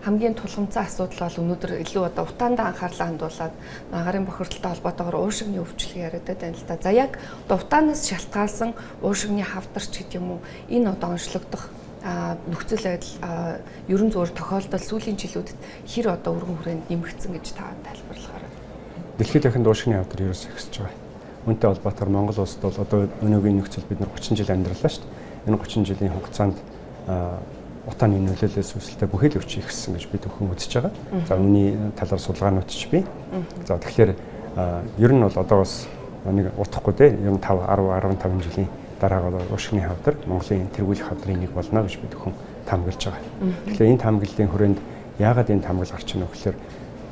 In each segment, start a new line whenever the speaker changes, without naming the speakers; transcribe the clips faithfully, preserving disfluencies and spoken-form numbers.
хамгийн тулгымцсан асуудал бол өнөөдөр илүү одоо утаандаа анхаарлаа хандуулаад агарын бохирдолтой холбоотойгоор уушигны өвчлөл яриад байна л да. За яг одоо утаанаас шалтгаалсан уушигны хавдарч гэдэг юм уу? Энэ одоо онцлогдох нөхцөл байдал ерөн зөөр тохиолдол сүүлийн жилүүдэд хэр одоо өргөн хүрээнд нэмэгдсэн гэж та тайлбарлахаар.
Дэлхийд дахинд уушигны хавдар ерөөс ихсэж байгаа. Үүнтэй холбоотойгоор Монгол улсад бол одоо өнөөгийн нөхцөл бид нар гучин жил амьдралаа шүү дээ. Энэ гучин жилийн хугацаанд утааны нөлөөлөлөөс үүсэлтэй бүхэл өвчин ихссэн гэж бид өхөн үзэж байгаа. За үүний талаар судалгаанууд ч бий. За тэгэхээр ер нь бол одоо бас нэг утахгүй дээ. Ер нь five, ten, fifteen жилийн дараагаар уушигны хавдар Монголын тэргүүлэх хавдрын нэг болно гэж бид өхөн таамаглаж байгаа. Тэгэхээр энэ таамаглалын хүрээнд яагаад энэ таамаглал гарч ийнэ гэхээр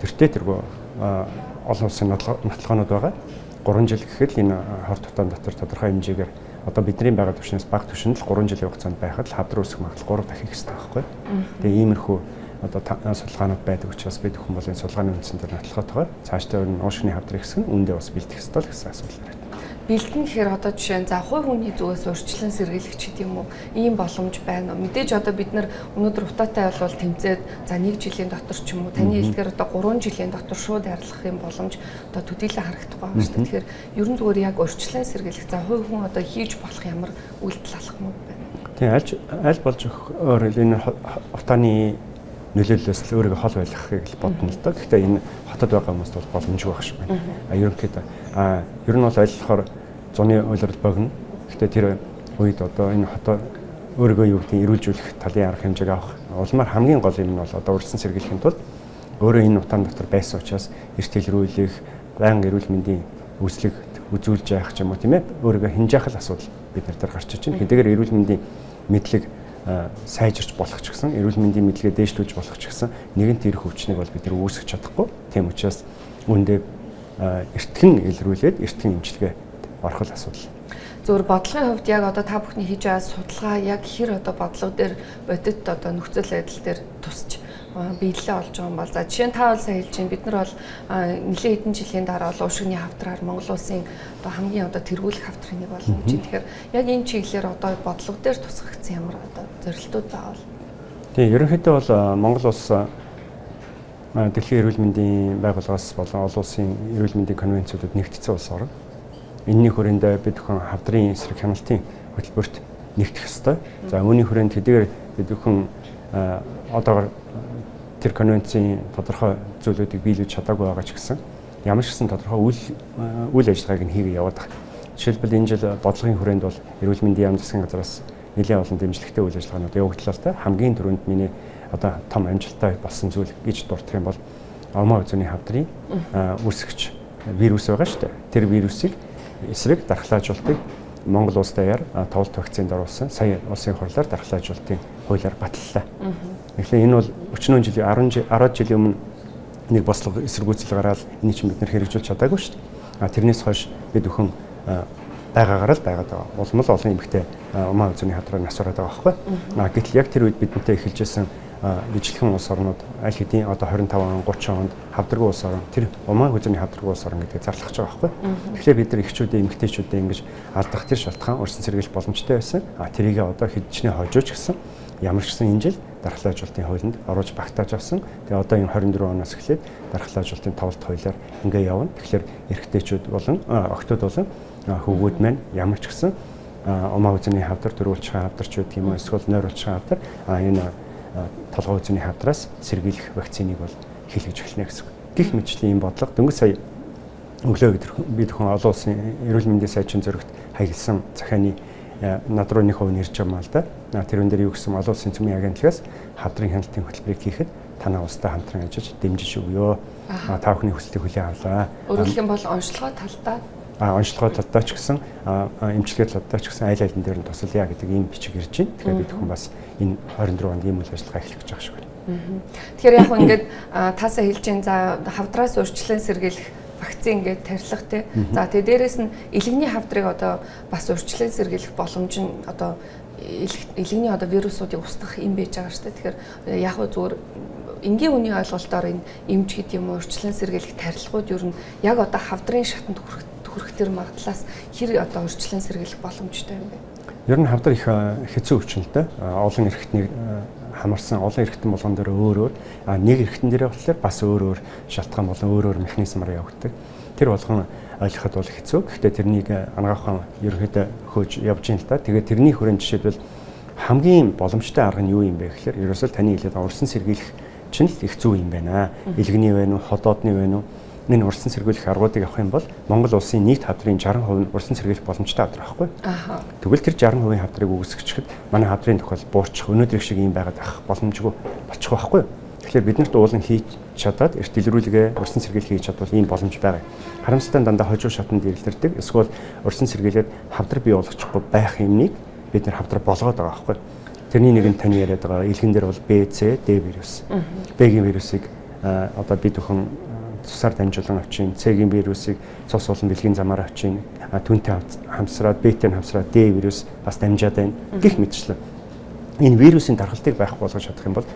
тэртээ тэргүй олон улсын нотолгоонууд байгаа. Гурван жил гэхэд энэ хорт утаан дотор тодорхой хэмжээгээр одоо бидний байгаа түвшнээс бага түвшинд л гурван жилийн хугацаанд байхад хавдар үүсэх магадлал three дахин ихсдэг байхгүй. Тэгээ иймэрхүү одоо судалгаанууд байдаг учраас бид өхөн бол энэ судалгааны үндсэн дээр нотлохотойгоор цаашдаа энэ уушигны хавдар ихсэх нь үүндээ бас бэлдэх ёстой л гэсэн асуулт байна.
Бэлдэн гэхээр одоо жишээ нь за хувь хүний зүгээс урьдчилан сэргийлэх ч гэдэг юм уу ийм боломж байна уу? Мэдээж одоо бид нар өнөөдөр утаатай бол тэмцээд за нэг жилийн дотор ч юм уу таны хэлдгээр одоо three жилийн дотор шууд арилгах юм боломж одоо төдийлөн харагдахгүй байна шүү дээ. Тэгэхээр ерөн зүгээр яг урьдчилан сэргийлэх за хувь хүн одоо хийж болох ямар үйлдэл алах юм бэ?
Тийм аль аль болж өөр энэ утааны нөлөөллөөс л өөрийгөө хол байлгахыг л бодно л доо. Гэхдээ энэ хотод байгаа хүмүүст бол боломжгүй байх шиг байна. А ерөнхийдөө а ер нь бол аль болохоор зуны уйлрал богино. Гэхдээ тэр үед одоо энэ хотоо өөрийгөө юу гэдгийг эрүүлжүүлэх талын арга хэмжээг авах улмаар хамгийн гол юм нь бол одоо урьдчилан сэргийлэхийн тулд өөрөө энэ утаан дотор байсан учраас эрт хэлрүүлэх, байнга эрүүл мэндийн үзлэг үзүүлж яах ч юм уу тийм ээ өөрийгөө хинжаах л асуудал бид нар дээр гарч иж байна. Хэдийгээр эрүүл мэндийн мэдлэг сайжирч болох ч гэсэн эрүүл мэндийн мэдлэгээ дээшлүүлж болох ч гэсэн нэгэнт ирэх өвчнийг бол бид нар үүсгэж чадахгүй. Тийм учраас үүндээ эртхэн илрүүлээд эртхэн эмчилгээ орох л асуудал.
Зөвхөн бодлогын хувьд яг одоо та бүхний хийж байгаа судалгаа яг хэр одоо бодлого дээр бодит одоо нөхцөл байдал дээр тусч биелэлээ олж байгаа юм бол за жишээ нь та бол сайн хэлж байна бид нар бол нэлээд хэдэн жилийн дараа бол уушигны хавдраар Монгол улсын одоо хамгийн одоо тэргүүлэх хавдрын нэг болно гэж. Тэгэхээр яг энэ чиглэлээр одоо бодлого дээр тусгагдсан ямар одоо зорилтууд байгаа бол.
Тийм ерөнхийдөө бол Монгол улс дэлхийн эрүүл мэндийн байгууллагаас болон олон улсын эрүүл мэндийн конвенцуудад нэгдсэн улс орн. Энэний хүрээнд бид өхөн хавдрын эсрэг хяналтын хөтөлбөрт нэгдэх ёстой. За үүний хүрээнд хэдийгээр бид өхөн одоогор тэр конвенцийн тодорхой зүйлүүдийг биелүүлж чадаагүй байгаа ч гэсэн ямар ч гэсэн тодорхой үйл үйл ажиллагааг нь хийгээ яваад байгаа. Жишээлбэл энэ жил бодлогын хүрээнд бол эрүүл мэндийн яам засгийн газраас нэлээд олон дэмжлэгтэй үйл ажиллагаанууд явагдлаа л та. Хамгийн түрүүнд миний одоо том амжилттай болсон зүйл гэж дурдах юм бол омоо үзүүний хавдрын үүсгэж вирус байгаа шүү дээ. Тэр вирусыг эсрэг дархлаажуултыг Монгол улс даяар тоглолт вакцинд оруулсан сая улсын хурлаар дархлаажуултын хуулиар баталлаа. Тэгэхээр энэ бол өчнөө жилийн ten жилийн өмнө нэг бослого эсэргүүцэл гараад энийг чинь бид нэр хэрэгжүүлж чадаагүй шүү дээ. А тэрнээс хойш бид өхөн байгаагаар л байгаад байгаа. Улам л олон эмэгтэй умаа үзүүний хадраа нас ороод байгаа байхгүй. А гэтэл яг тэр үед бидэнтэй эхэлжсэн ижлэхэн улс орнууд аль хэдийн одоо twenty-five он, thirty онд хавдраг улс орн тэр умаа үзүүний хавдраг улс орн гэдэг зарлахж байгаа байхгүй. Тэгэхээр бид нар эхчүүдээ эмэгтэйчүүдээ ингэж алдах тэр шалтгаан урьдчилан сэргийлэх боломжтой байсан. А тэрийг одоо хэдчнээ хожууч гэсэн ямар ч гэсэн энэ жил дархлаажуулалтын хуулинд оруулж багтааж авсан. Тэгээ одоо энэ twenty-four оноос эхлээд дархлаажуулалтын тоглолт хуулиар ингээ явна. Тэгэхээр эрэгтэйчүүд болон охтууд болон хөвгүүд маань ямар ч гэсэн умаа үзүүний хавдар, төрүүлчийн хавдарч гэдэг юм уу эсвэл нойруулчийн хавдар а энэ толгой үзүүний хавдраас сэргийлэх вакциныг бол хийлгэж эхэлнэ гэсэн. Гэх мэтчлийн ийм бодлого дөнгөж сая өглөө бид хүн олон улсын эрүүл мэндийн сайжрын зорилгот хаягдсан захианы над руу нэг хувь нэрж байгаа л да. Тэрүүн дээр юу гэсэн олон улсын цөмийн агентлагаас хавдрын хяналтын хөтөлбөрийг хийхэд танаа улстай хамтран ажиллаж дэмжиж өгөө. Та бүхний хүслийг хүлээн авлаа.
Өөрөлдөх юм бол онцлогоо талдаа
а онцлогоо талдаа ч гэсэн эмчилгээ талдаа ч гэсэн айл айлын дээр нь тусалъя гэдэг ийм бичиг ирж байна. Тэгэхээр бид хүн бас энэ twenty-four онд ийм үйл ажиллагаа эхлэх гэж байгаа шиг байна.
Тэгэхээр яг хөө ингээд таасаа хэлж чинь за хавдраас урьдчилан сэргийлэх вакцин ингээд тарилах тий. За тэгээ дээрэс нь илэгний хавдрыг одоо бас урьдчилан сэргийлэх боломж нь одоо илэгний одоо вирусуудыг устгах юм байж байгаа шүү дээ. Тэгэхээр яг хөө зүгээр энгийн үний ойлголтоор энэ эмч гэдэг юм уу урьдчилан сэргийлэх тарилгууд ер нь яг одоо хавдрын шатанд хүрэх хүрэх тэр магадлаас хэр одоо урьдчилан сэргийлэх боломжтой юм бэ?
Ер нь хавдар их хэцүү өвчнөлтэй олон эрхтний хамарсан олон эргэтэн болгон дээр өөр өөр а нэг эргэтэн дээр болохоор бас өөр өөр шалтгаан болон өөр өөр механизмаар явагддаг. Тэр болгон ойлгоход бол хэцүү. Гэхдээ тэрнийг ангаахан ерөнхийдөө хөөж явж ийн л та. Тэгээд тэрний хүрээнд жишээлбэл хамгийн боломжтой арга нь юу юм бэ гэхээр ерөөсөө таны хэлээд урсан сэргийлэх чинь л их зүй юм байна. Илгэний вэ нү, ходоодны вэ нү энэ урсан сэргийлэх аргуудыг авах юм бол Монгол улсын нийт хавдрын шарх хувь нь урсан сэргийлэх боломжтой хавдар байхгүй. Аа. Тэгвэл тэр шарх хувийн хавдрыг үүсгэхэд манай хавдрын тохиол буурчих өнөөдрийн шиг юм байгаад ах боломжгүй болчих байхгүй. Тэгэхээр бид нарт уулан хийж чадаад эрт илрүүлгээ урсан сэргийлэх хийж чадвал ийм боломж байгаа. Харамсалтай дандаа хожуу шатанд ирэлдэрдэг. Эсвэл урсан сэргийлээд хавдар бий болгочихгүй байх юмныг бид нар хавдар болгоод байгаа байхгүй. Тэрний нэг нь таны яриад байгаа илгэн дээр бол Б, С, Д вирус. Б-гийн вирусыг одоо бид өхөн цусаар дамжуулан авчин, С-гийн вирусыг цус болон бэлгийн замаар авчин, түнтэй хамсраад, Б-тэй хамсраад Д вирус бас дамжаад байна. Гэх мэтчлэн энэ вирусын дархалтыг байхгүй болгож чадах юм бол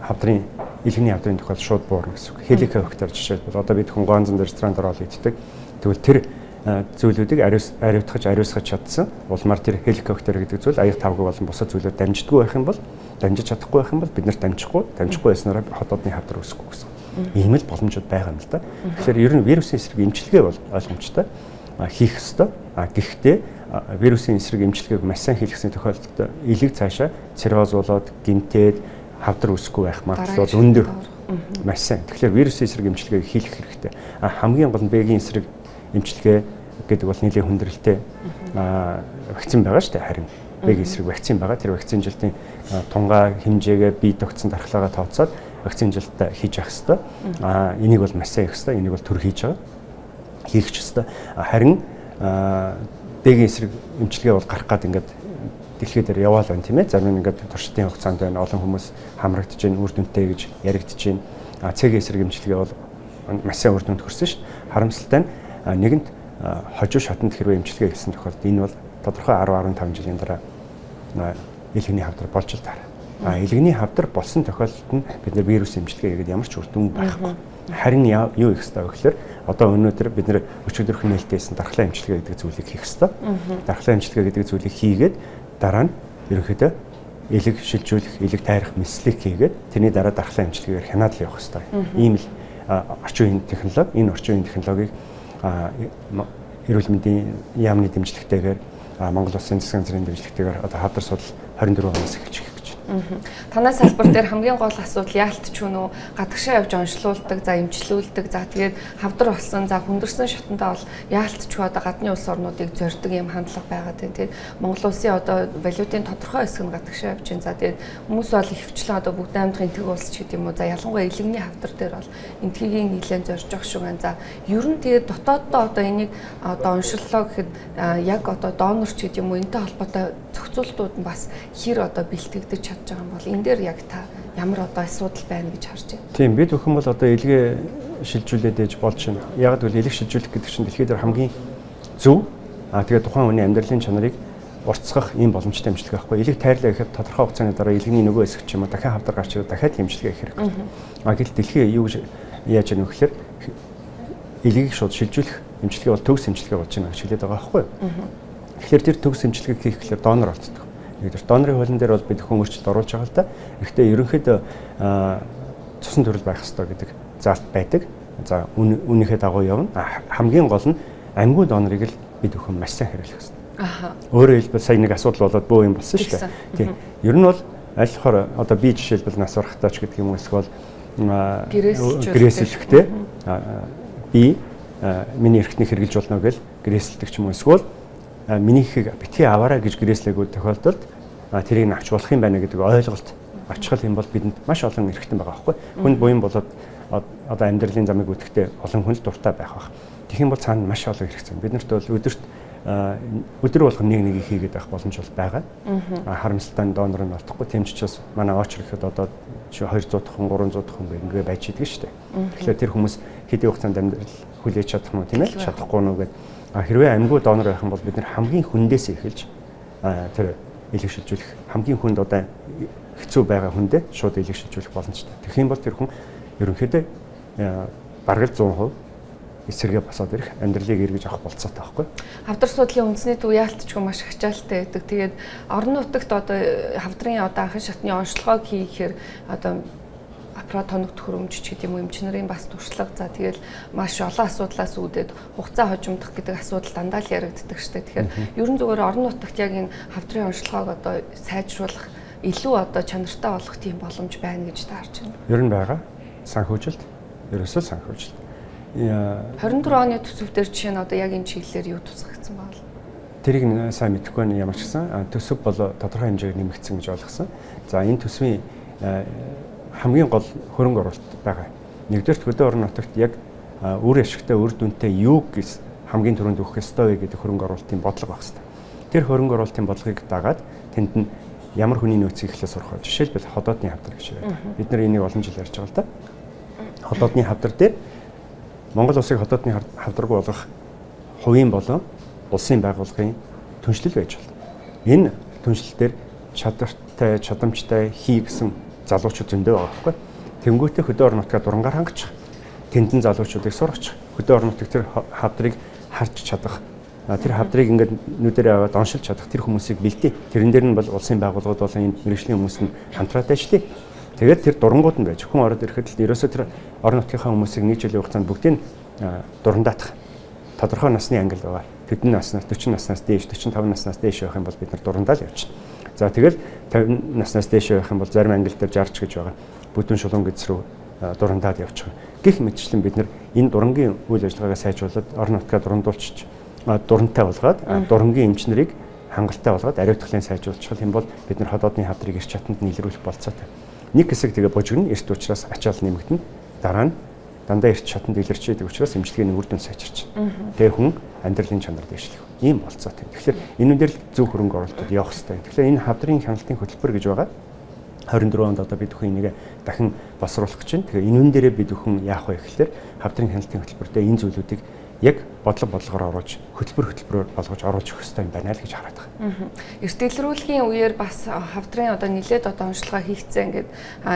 хавдрын илгэний хавдрын тохиол шууд буурна гэсэн үг. Хеликобактер жишээлбэл одоо бид хүн гонзон ресторанд ороод иддэг. Тэгвэл тэр зүйлүүдийг ариус ариутгаж ариусгаж чадсан улмаар тэр хеликобактер гэдэг зүйл аяг тавг болон бусад зүйлүүд дамждаггүй байх юм бол дамжиж чадахгүй байх юм бол бид нарт дамжихгүй дамжихгүй байснараа ходоодны хавдар үүсэхгүй гэсэн. Ийм л боломжууд байгаа юм л да. Тэгэхээр ер нь вирусын эсрэг эмчилгээ бол ойлгомжтой хийх ёстой. А гэхдээ вирусын эсрэг эмчилгээг маш сайн хийлгэсэн тохиолдолд илэг цаашаа цирроз болоод гинтээд хавдар үүсэхгүй байх магадлал өндөр. Маш сайн. Тэгэхээр вирусын эсрэг эмчилгээг хийх хэрэгтэй. А хамгийн гол нь Б-гийн эсрэг эмчилгээ гэдэг бол нэлээд хүндрэлтэй вакцин байгаа шүү дээ. Харин Б-гийн эсрэг вакцин байгаа. Тэр вакцин жилтийн тунгаа хэмжээгээ бие тогтсон дархлаагаа тооцоод вакцин жилтээ хийж явах хэрэгтэй. А энийг бол маш сайн хийх хэрэгтэй. Энийг бол төр хийж байгаа. Хийх ч хэрэгтэй. Харин Б-гийн эсрэг эмчилгээ бол гарах гад ингээд дэлхий дээр яваал байна тийм ээ. Зарим нь ингээд туршилтын хугацаанд байна. Олон хүмүүс хамрагдаж байна, үр дүнтэй гэж яригдж байна. А С-гийн эсрэг эмчилгээ бол маш сайн үр дүнд хүрсэн шүү дээ. Харамсалтай нь нэгэнт хожуу шатанд хэрвээ эмчилгээ хийсэн тохиолдолд энэ бол тодорхой арван арван таван жилийн дараа илгэний хавдар болж л таарна. А илгэний хавдар болсон тохиолдолд нь бид нэр вирус эмчилгээ хийгээд ямар ч үр дүн байхгүй. Харин юу их хэвээр гэхээр одоо өнөөдөр бид нэр өчигдөрхөн нээлттэйсэн дархлаа эмчилгээ гэдэг зүйлийг хийх хэвээр. Дархлаа эмчилгээ гэдэг зүйлийг хийгээд дараа нь ерөнхийдөө элэг шилжүүлэх, элэг тайрах мэслийг хийгээд тэрний дараа дархлаа эмчилгээгээр хянаад л явах хэвээр. Ийм л орчин үеийн технологи, энэ орчин үеийн технологиг эрүүл мэндийн яамны дэмжлэгтэйгээр Монгол Улсын засгийн газрын дэмжлэгтэйгээр одоо хавдар судал хорин дөрвөн оноос эхэлж гэх гэж байна.
Танай салбар дээр хамгийн гол асуудал яалтч юу нөө гадагшаа явж онцлуулдаг, за эмчлүүлдэг, за тэгээд хавдар болсон, за хүндэрсэн шатандаа бол яалтч юу одоо гадны улс орнуудыг зорддог юм хандлага байгаад байна. Тэгээд Монгол Улсын одоо валютын тодорхой хэсэг нь гадагшаа явж байна. За тэгээд хүмүүс бол ихвчлэн одоо бүгд аймгийн тэг улс ч гэдэг юм уу. За ялангуяа илгэний хавдар дээр бол энтгийг нэлээд зорж явах шиг байна. За ер нь тэгээд дотооддоо одоо энийг одоо онцлолоо гэхэд яг одоо донорч гэдэг юм уу энтэй холбоотой зохицуултууд нь бас хэр одоо бэлтгэгдэж чадж байгаа юм бол энэ дээр яг та ямар одоо асуудал байна гэж харж байна.
Тийм бид бүхэн бол одоо илгээ шилжүүлээд ээж болж байна. Яг л илэг шилжүүлэх гэдэг чинь дэлхийд хамгийн зөв аа тэгээд тухайн хүний амьдралын чанарыг уртсгах ийм боломжтой эмчилгээ байхгүй. Илэг тайрлаа гэхэд тодорхой хугацааны дараа илгэний нөгөө хэсэг ч юм уу дахин хавдар гарч ирээд дахиад эмчилгээ хийх хэрэгтэй. Аа гэтэл дэлхий юу гэж яаж яах вэ гэхээр илгийг шууд шилжүүлэх эмчилгээ бол төгс эмчилгээ болж байна гэж хэлээд байгаа байхгүй. Тэгэхээр тэр төгс эмчилгээ хийх гэхээр донор олддог. Нэгдүгээр донорын хуулин дээр бол бид хүмүүрчлэлд оруулж байгаа л да. Гэхдээ ерөнхийдөө цусан төрөл байх ёстой гэдэг заалт байдаг. За үүнийхээ дагуу явна. Хамгийн гол нь амьгүй донорыг л бид өхөн маш сайн хариулах ёстой. Аха. Өөрөөр хэлбэл сая нэг асуудал болоод бөө юм болсон шүү дээ. Тийм. Ер нь бол аль болохоор одоо би жишээлбэл нас урахтаач гэдэг юм эсвэл гэрээсэлэхтэй би миний эрхтнийг хэрэгжилж болно гэж гэрээсэлдэг ч юм уу эсвэл миний ихийг битгий аваарай гэж гэрээслээгүүд тохиолдолд тэрийг нь авч болох юм байна гэдэг ойлголт очихл юм бол бидэнд маш олон эрхтэн байгаа байхгүй. Хүнд буян болоод одоо амьдралын замыг үүдэхдээ олон хүн л дуртай байх бах. Тэгэх юм бол цаана маш олон хэрэгцээ. Бид нарт бол өдөрт өдөр болгон нэг нэг хийгээд байх боломж бол байгаа. Харамсалтай нь донор нь олдохгүй. Тийм ч учраас манай очр ихэд одоо двухсад хүн, гурамсад хүн ингээ байж идэг шүү дээ. Тэгэхээр тэр хүмүүс хэдийн хугацаанд амьдрал хүлээж чадах нь тийм ээ чадахгүй нөө гэдэг. Хэрвээ амьгүй донор байх юм бол бид нэр хамгийн хүндээс эхэлж тэр илэг шилжүүлэх хамгийн хүнд одоо хэцүү байгаа хүндээ шууд илэг шилжүүлэх боломжтой. Тэгэх юм бол тэр хүн ерөнхийдөө бараг л зуун хувь эсрэгээ босоод ирэх, амьдралыг эргэж авах болцоотой байхгүй.
Хавдар судлалын үндэсний төв яалтчгүй маш хачаалтай байдаг. Тэгээд орон нутагт одоо хавдрын одоо анхан шатны онцлогоог хийхээр одоо аппарат тоног төхөөрөмж ч гэдэг юм уу эмч нарын бас туршлага. За тэгэл маш олон асуудлаас үүдээд хугацаа хожимдох гэдэг асуудал дандаа л яригддаг штэ. Тэгэхээр ерөн зүгээр орон нутагт яг энэ хавдрын онцлогоог одоо сайжруулах, илүү одоо чанартай болгох тийм боломж байна гэж таарч байна.
Ер нь байгаа. Санхүүжилт, ерөөсөө санхүүжилт.
хорин дөрөв оны төсөвдөр жишээ нь одоо яг энэ чиглэлээр юу тусгагдсан байна?
Тэрийг сайн мэдэхгүй нь ямар ч гэсэн төсөв бол тодорхой хэмжээгээр нэмэгдсэн гэж ойлгосон. За энэ төсвийн хамгийн гол хөрөнгө оруулалт байгаа. Нэгдүгээр хөдөө орон нутагт яг үр ашигтай үр дүнтэй юу гэж хамгийн түрүүнд өгөх ёстой вэ гэдэг хөрөнгө оруулалтын бодлого баг хэвээр. Тэр хөрөнгө оруулалтын бодлогыг дагаад тэнд нь ямар хүний нөөцийг эхлээ сурах вэ? Жишээлбэл ходоодны хавдар гэж байдаг. Бид нар энийг олон жил ярьж байгаа л да. Ходоодны хавдар дээр Монгол улсыг ходоодны хавдаргүй болгох хувийн болон улсын байгууллагын түншлэл байж болно. Энэ түншлэлээр чадвартай, чадамжтай хий гэсэн залуучууд зөндөө байгаа байхгүй. Тэнгүүтээ хөдөө орон нутгаа дурангаар хангаж тэндэн залуучуудыг сургаж хөдөө орон нутгийн тэр хавдрыг харж чадах, тэр хавдрыг ингээд нүдэрээ аваад оншилж чадах тэр хүмүүсийг бэлдээ. Тэрэн дээр нь бол улсын байгууллагууд болон энэ мэргэжлийн хүмүүс нь хамтраад ажиллая. Тэгээд тэр дурангууд нь байж хүн ороод ирэхэд л ерөөсөө тэр орон нутгийнхаа хүмүүсийг нэг жилийн хугацаанд бүгдийг дурандаатах тодорхой насны ангил байгаа. Тэдний наснаас дөрвөн наснаас дээш, дөрвөн таван наснаас дээш байх юм бол бид нар дурандаал явчихна. За тэгэл тавин наснаас дээш байх юм бол зарим ангил дээр жарч гэж байгаа. Бүдүүн шулуун гэц рүү дурандаал явчих. Гэх мэтчлэн бид нар энэ дурангийн үйл ажиллагаагаа сайжруулад орон нутгаа дурандуулчих, дурантай болгоод дурангийн эмч нарыг хангалттай болгоод ариутгалын сайжруулчих юм бол бид нар ходоодны хавдрыг эрч чатанд нийлрүүлэх болцоотой. Нэг хэсэг тэгээ бужигна, эрт учраас ачаал нэмэгдэнэ. Дараа нь дандаа эрт чатанд илэрч байдаг учраас эмчилгээний үр дүн сайжирч. Тэгээ хүн амьдралын чанар дэвшлэх. Ийм болцоотой. Тэгэхээр энэ үндэр зөв хөрөнгө оруулалтууд явах хэрэгтэй. Тэгэхээр энэ хавдрын хяналтын хөтөлбөр гэж байгаа. хорин дөрөв онд одоо бид бүхэн энийг дахин босруулах гэж байна. Тэгээ энэ үн дээрээ бид бүхэн яах вэ гэхээр хавдрын хяналтын хөтөлбөртөө энэ зүйлүүдийг яг бодлого бодлогоор оруулж хөтөлбөр хөтөлбөрөөр болгож оруулж өгөх хэрэгтэй юм байна л гэж хараад байгаа.
Эрт дэлгэрүүлгийн үеэр бас хавдрын одоо нэлээд одоо онцлогоо хийгцэн ингээд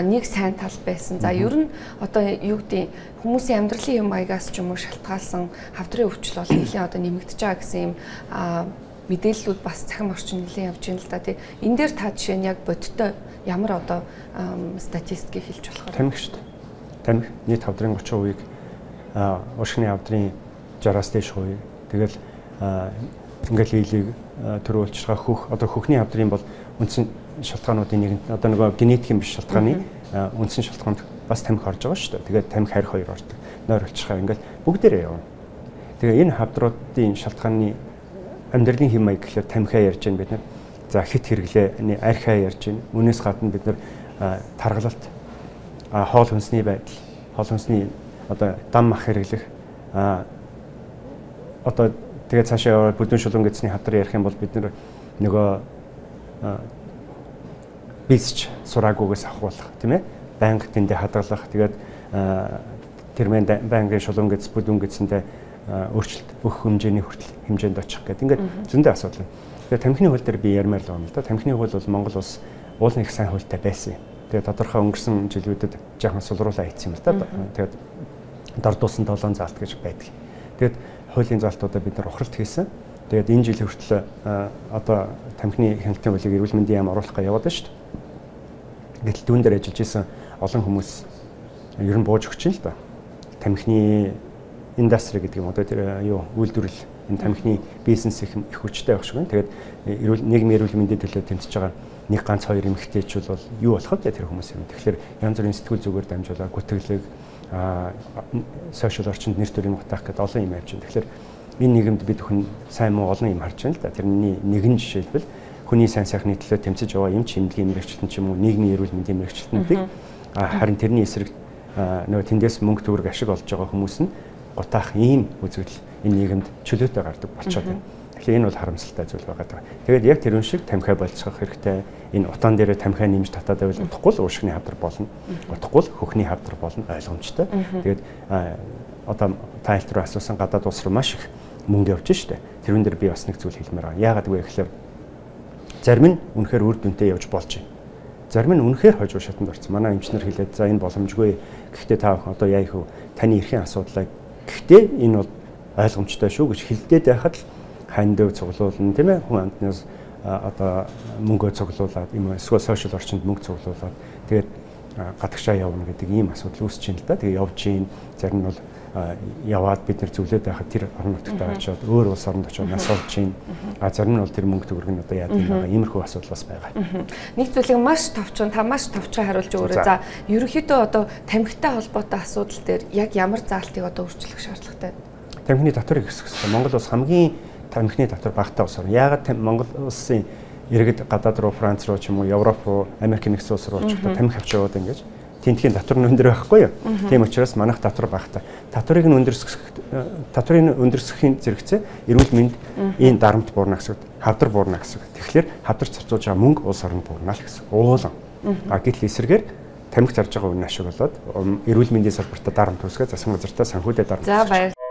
нэг сайн тал байсан. За ер нь одоо юу гэдэг хүмүүсийн амьдралын юм маягаас ч юм уу шалтгаалсан хавдрын өвчл бол нэлээд одоо нэмэгдэж байгаа гэсэн юм мэдээллүүд бас цахим орчин нэлээд явж байна л да тий. Энэ дээр та жишээ нь яг бодиттой ямар одоо статистикийг хэлж болох вэ?
Тамхи шүү дээ. Тамхи нийт хавдрын гурван хувийг уушгины хавдрын жараас дээш хувийг тэгэл ингээл хийлийг төрүүлж байгаа хөх одоо хөхний хавдрын бол үндсэн шалтгаануудын нэг одоо нөгөө генетикийн биш шалтгааны үндсэн шалтгаанд бас тамхи орж байгаа шүү дээ. Тэгээд тамхи харь хоёр ордог. Нойр олчихаа ингээл бүгдээрээ явна. Тэгээ энэ хавдруудын шалтгааны амьдралын хэм маяг гэхэлэр тамхиа ярьж байна бид нар. За хит хэрэглээ, архиа ярьж байна. Үүнээс гадна бид нар таргалалт, хоол хүнсний байдал, хоол хүнсний одоо дан мах хэрэглэх одоо тэгээд цаашаа яваад бүдүүн шулуун гэцний хавдар ярих юм бол бид нөгөө бисч сураагүйгээс авахулах тийм ээ банк тэндээ хадгалах тэгээд тэрмэн банкын шулуун гэц бүдүүн гэцэндээ өөрчлөлт бүх хэмжээний хүртэл хэмжээнд очих гэдэг ингээд зөндөө асуудал. Тэгээд тамхины хууль дээр би ярмаар л байна л да. Тамхины хууль бол Монгол улс уулын их сайн хуультай байсан юм. Тэгээд тодорхой өнгөрсөн жилүүдэд жоохон сулруулаа хийсэн юм л да. Тэгээд дордуулсан долоон заалт гэж байдаг. Тэгээд хуулийн заалтуудаа бид нар ухралт хийсэн. Тэгээд энэ жил хүртэл одоо тамхины хяналтын хуулийг эрүүл мэндийн яам оруулахгаа яваад байна шүү дээ. Гэтэл түүн дээр ажиллаж исэн олон хүмүүс ер нь бууж өгч юм л да. Тамхины индастри гэдэг юм одоо тэр юу үйлдвэрлэл энэ тамхины бизнес их их хүчтэй байх шиг байна. Тэгээд эрүүл нийгмийн эрүүл мэндийн төлөө тэмцэж байгаа нэг ганц хоёр эмэгтэйчүүд бол юу болох вэ тэр хүмүүс юм. Тэгэхээр янз бүрийн сэтгүүл зүгээр дамжуулаад гүтгэлэг а сошиал орчинд нэр төрийн утаах гэдэг олон юм явж байна. Тэгэхээр энэ нийгэмд бид хүн сайн муу олон юм харж байна л да. Тэрний нэгэн жишээлбэл хүний сайн сайхны төлөө тэмцэж байгаа эмч эмнэлгийн мэрэгчлэн ч юм уу нийгмийн эрүүл мэндийн мэрэгчлэнүүдийг харин тэрний эсрэг нөгөө тэндээс мөнгө төгрөг ашиг олж байгаа хүмүүс нь гутаах ийм үзэгдэл энэ нийгэмд чөлөөтэй гардаг болчиход байна. Тэгэхээр энэ бол харамсалтай зүйл байгаа. Тэгээд яг тэр шиг тамхиа болцох хэрэгтэй. Энэ утаан дээрээ тамхиа нэмж татаад байвал утахгүй л уушгины хавдар болно. Утахгүй л хөхний хавдар болно ойлгомжтой. Тэгээд одоо тайлт руу асуусан гадаад улс руу маш их мөнгө явж штэ. Тэрүүн дээр би бас нэг зүйл хэлмээр байгаа. Яагаад вэ гэхээр зарим нь үнэхээр үр дүнтэй явж болж байна. Зарим нь үнэхээр хожуу шатанд орсон. Манай эмчнэр хэлээд за энэ боломжгүй. Гэхдээ та одоо яа их вэ? Таны эрхийн асуудлыг Гэхдээ энэ бол ойлгомжтой шүү гэж хэлдээд байхад л хань дэв цуглуулна тийм ээ хүн амтнаас одоо мөнгөө цуглуулад юм эсвэл сошиал орчинд мөнгө цуглуулад тэгээд гадагшаа явна гэдэг ийм асуудал үүсэж байна л да. Тэгээ явж гин зарим нь бол яваад бид нэр зөвлөд байхад тэр орон нутгад очиод өөр улс оронд очиод нас олж гин а зарим нь бол тэр мөнгө төгрөг нь одоо яадаг юм байгаа иймэрхүү асуудал бас байгаа.
Нэг зүйлийг маш товчхон та маш товчхон хариулж өгөөрэй. За ерөнхийдөө одоо тамхитай холбоотой асуудал дээр яг ямар заалтыг одоо өөрчлөх шаардлагатай?
Тамхины татварыг өсгөх хэрэгтэй. Монгол улс хамгийн тамхины татвар багтаа улс орно. Яагаад Монгол улсын иргэд гадаад руу Франц руу ч юм уу Европ руу Америк нэгдсэн улс руу очихдоо тамхи авч яваад ингэж тентхийн татвар нь өндөр байхгүй юу? Тийм учраас манайх татвар багтаа. Татварыг нь өндөрсгөх татврын өндөрсөхийн зэрэгцээ эрүүл мэнд энэ дарамт буурна гэсэн. Хавдар буурна гэсэн. Тэгэхээр хавдар зарцуулж байгаа мөнгө улс оронд буурна л гэсэн. Уулан. А гэтэл эсрэгээр тамхи зарж байгаа үнэ ашиг болоод эрүүл мэндийн салбартаа дарамт үүсгээ засгийн газартаа санхүүдэд дарамт.
За баярлалаа.